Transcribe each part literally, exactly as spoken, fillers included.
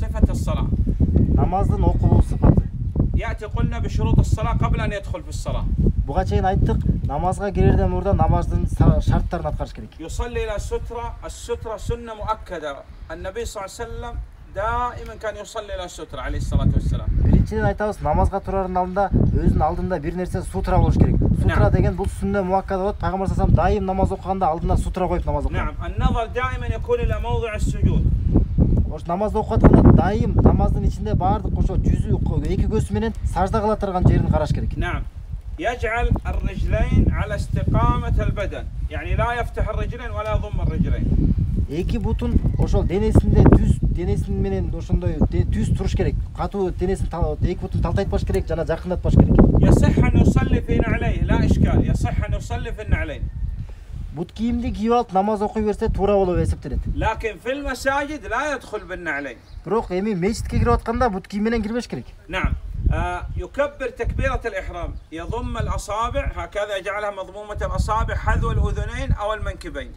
صفة الصلاة. Намаздын окулуу сыпаты. يأتي قلنا بشروط الصلاة قبل أن يدخل في الصلاة. Буга чейин айттык, намазга кирерден мурда намаздын шарттарын аткарыш керек. يصلي إلى السترة، السترة سنة مؤكدة. النبي صلى الله عليه وسلم دائما كان يصلي إلى السترة عليه الصلاة والسلام. Биринчиден айтабыз, намазга турардын алдында өзүнүн алдында бир нерсе сутра болуш керек. Сутра деген бул сүннө муаккада болот. Пайгамбар саллаллаху алейхи вассалам дайым намаз окуганда алдына сутра коюп намаз окуган. نعم، النظر دائما يكون إلى موضع السجود. Ош намазды окуп атканда дайым намаздын ичинде баардык ошо жүзү эки көзү менен сажда кыла турган жерин караш керек. نعم. يجعل الرجلين على استقامة البدن، يعني لا يفتح الرجلين ولا يضم الرجلين. Эки бутун ошол денесинде түз денесин менен ошондой түз туруш керек. Катуу денесин эки бутун талтайтпаш керек жана жакындатпаш керек. يصح أن يصلي في نعليه، لا إشكال، يصح أن يصلي في النعلين. Бут кийимди кийип алып намаз окуй берсе туура болуп эсептелет. لكن في المساجد لا يدخل بالنعلين. Бирок эми мечитке кирип атканда бут кийим менен кирбеш керек. نعم. آه يكبر تكبيرة الإحرام، يضم الأصابع هكذا، يجعلها مضمومة الأصابع حذو الأذنين أو المنكبين.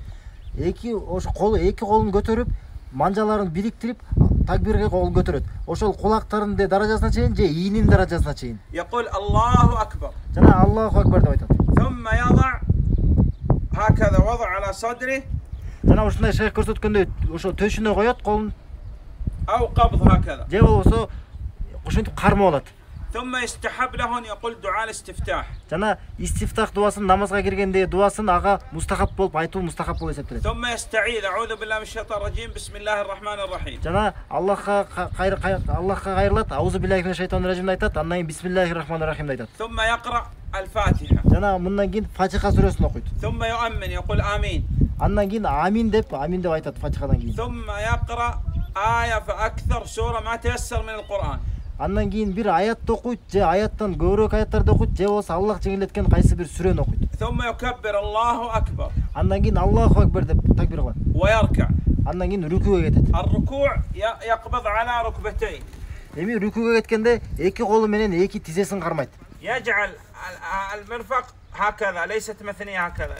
Эки ош кол эки колун көтөрүп, манжаларын бириктирип, такбирге кол көтөрөт. Ошол кулактарынын даражасына чейин же ийинин даражасына чейин. يقول الله أكبر. Жана Аллаху акбар деп айтат. ثم يضع هكذا وضع على صدره. Жана ушундай шейх көрсөткөндөй ошо төшүнө коёт колун. أو قبض هكذا. Же болбосо ошентип кармап алат. ثم يستحب له أن يقول دعاء الاستفتاح. Жана истифтах дуасын намазга киргенде дуасын ага мустахаб болуп айтуу мустахаб болуп эсептелет. ثم يستعيذ أعوذ بالله من الشيطان الرجيم بسم الله الرحمن الرحيم. Жана Аллахка кайр Аллахка кайрылат, аузу биллахи минаш шайтанир ражим айтат, андан кийин бисмиллахир рахманир рахим айтат. ثم يقرأ الفاتحة. Жана мындан кийин Фатиха сүрөсүн окуйт. ثم يؤمن يقول آمين. Андан кийин амин деп, амин деп айтат Фатихадан кийин. ثم يقرأ آية فأكثر سورة ما تيسر من القرآن. Андан кийин бир аятты окуйт, же аяттан көбүрөөк аяттарды окуйт, же болсо Аллах жеңилдеткен кайсы бир сүрөнү окуйт. ثم يكبر الله أكبر. Андан кийин Аллаху акбар деп такбир кылат. ويركع. Андан кийин рүкүүгө кетет. الركوع يقبض على ركبتين. Эми рүкүүгө кеткенде эки колу менен эки тизесин кармайт. يجعل المرفق هكذا، ليست مثنية هكذا.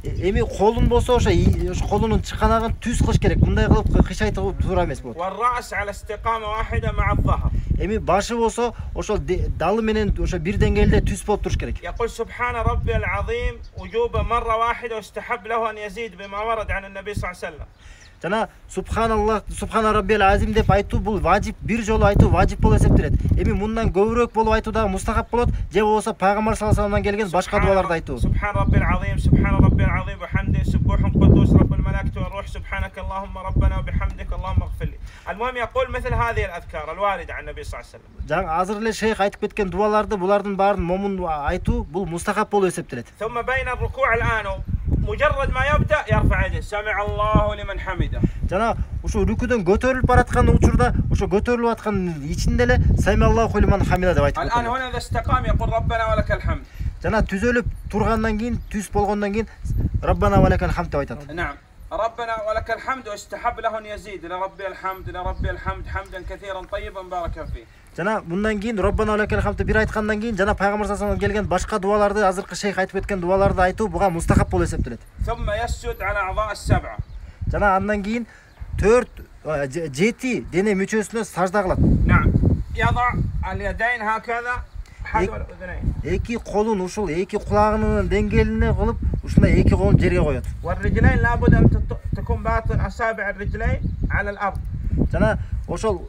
Эми колун болсо ошо ошо колунун чыканагын түз кылыш керек. Мындай кылып кыйшайтып туура эмес болот. والرأس على استقامة واحدة مع الظهر. Эми башы болсо ошол далы менен ошо бир деңгээлде түз болуп туруш керек. يقول سبحان ربي العظيم وجوبا مرة واحدة، واستحب له أن يزيد بما ورد عن النبي صلى الله عليه وسلم. Жана субханаллах, субхана раббил азим деп айтуу бул важип, бир жолу айтуу важип болуп эсептелет. Эми мындан көбүрөөк болуп айтуу дагы мустахаб болот, же болбосо пайгамбар саллаллаху алейхи вассаламдан келген башка дуаларды айтуу. سبحان ربي العظيم سبحان ربي العظيم وبحمده سبوح قدوس رب الملائكة والروح سبحانك اللهم ربنا وبحمدك اللهم اغفر لي. المهم يقول مثل هذه الأذكار الواردة عن النبي صلى الله عليه وسلم. Жаң азыр эле шейх айтып кеткен дуаларды, булардын баарын момун айтуу бул мустахаб болуп эсептелет. ثم بين الركوع الآن مجرد ما يبدأ يرفع يده سمع الله لمن حمده. Жана ошо рүкүдөн көтөрүлүп бараткан учурда, ошо көтөрүлүп аткан ичинде эле сами Аллаху лиман хамида деп айтып. الآن هنا إذا استقام يقول ربنا ولك الحمد. Жана түзөлүп тургандан кийин, түз болгондон кийин Раббана ва лакал хамд деп айтат. نعم. ربنا ولك الحمد واستحب له أن يزيد لربي الحمد لربي الحمد حمدا كثيرا طيبا باركا فيه. Жана мындан кийин Раббана ва лакал хамд бир айткандан кийин жана пайгамбар саллаллаху алейхи вассалам келген башка дуаларды, азыркы шейх айтып кеткен дуаларды айтуу буга мустахаб болуп эсептелет. ثم يسجد على أعضاء السبعة. Жана андан кийин төрт жети дене мүчөсүнө сажда кылат. نعم. يضع اليدين هكذا حذو الأذنين. Эки колун ушул эки кулагынын деңгээлине кылып, ушундай эки колун жерге коёт. والرجلين لابد أن تكون باطن أصابع الرجلين على الأرض. Жана ошол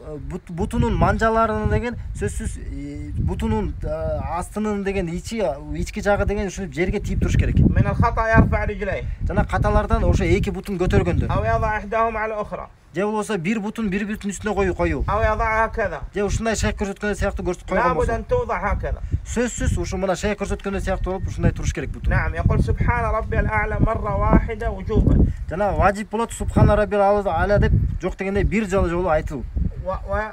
бутунун манжаларынын деген сөзсүз бутунун астынын деген ичи ички жагы деген ушинтип жерге тийип туруш керек. من الخطأ يرفع رجليه. Жана каталардан ошо эки бутун көтөргөндө. أو يضع إحداهما على الأخرى. Же болбосо бир бутун бир бүтүн үстүнө коюу коюу. أو يضعها هكذا. Же ушундай шейх көрсөткөн сыяктуу көрсөтүп койгон لابد болсо. أن توضع هكذا. Сөзсүз ушу мына шейх көрсөткөн сыяктуу болуп ушундай туруш керек бутун. نعم. يقول سبحان ربي الأعلى مرة واحدة وجوبا. Жана важип болот субхана раббил а'ла деп жок дегенде бир жолу жолу айтылуу.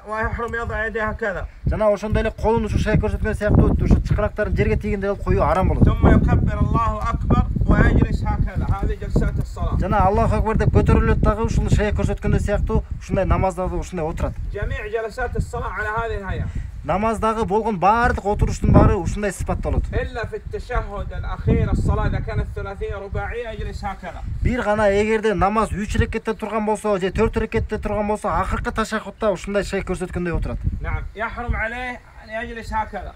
ويحرم يضع يديه هكذا. Жана ошондой эле колун ушу шейх көрсөткөн сыяктуу ушу чыкырактарын жерге тийгенде коюу арам болот. ثم يكبر الله أكبر ويجلس هكذا. هذه جلسات الصلاة. Жана Аллаху акбар деп көтөрүлөт дагы ушул шейх көрсөткөндөй сыяктуу ушундай намазда ушундай отурат. جميع جلسات الصلاة على هذه الهيئة. намаздагы болгон баардык отуруштун баары ушундай сыпатталат. إلا في التشهد الأخير الصلاة إذا كانت ثلاثية رباعية أجلس هكذا. Бир гана эгерде намаз үч рекетте турган болсо, же төрт рекетте турган болсо, акыркы ташаххутта ушундай шей көрсөткөндөй отурат. نعم يحرم عليه أن يجلس هكذا.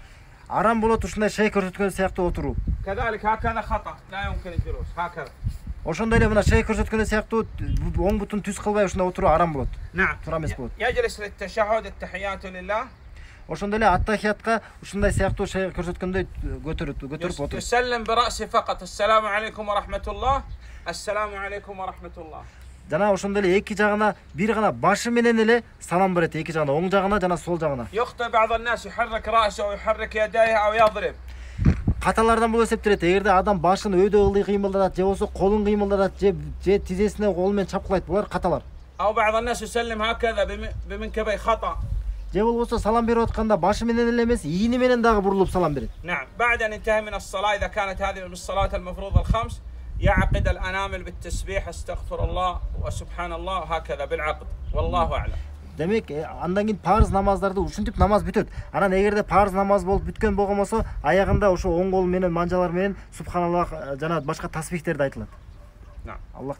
Арам болот ушундай шей көрсөткөн сыяктуу отуруу. كذلك هكذا خطأ لا يمكن الجلوس هكذا. Ошондой эле мына шей көрсөткөндөй сыяктуу оң бутун түз кылбай ушундай отуруу арам болот. نعم. Тура эмес болот. يجلس للتشهد التحيات لله. Ошондой эле аттахиятка ушундай сыяктуу шей көрсөткөндөй көтөрүп көтөрүп отуруп. يسلم برأسه فقط السلام عليكم ورحمة الله. السلام عليكم ورحمة الله. Жана ошондой эле эки жагына бир гана башы менен эле салам берет, эки жагына, оң жагына жана сол жагына. يخطئ بعض الناس يحرك رأسه أو يحرك يديه أو يضرب. Каталардан болуп эсептелет. Эгерде адам башын өйдө ылдый кыймылдатат, же болсо колун кыймылдатат, же же тизесине кол менен чапкылайт, булар каталар. أو بعض الناس يسلم هكذا بم- بمنكبيه خطأ. Же болбосо салам берип атканда башы менен эле эмес, ийини менен дагы бурулуп салам берет. نعم بعد أن ينتهي من الصلاة إذا كانت هذه من الصلاة المفروضة الخمس يعقد الأنامل بالتسبيح استغفر الله وسبحان الله هكذا بالعقد والله أعلم. Демек, андан кийин парыз намаздарды ушинтип намаз бүтөт. Анан эгерде парыз намаз болуп бүткөн болгон болсо, аягында ошо оң кол менен манжалар менен субханаллах жана башка тасбихтерди айтылат. نعم. Аллах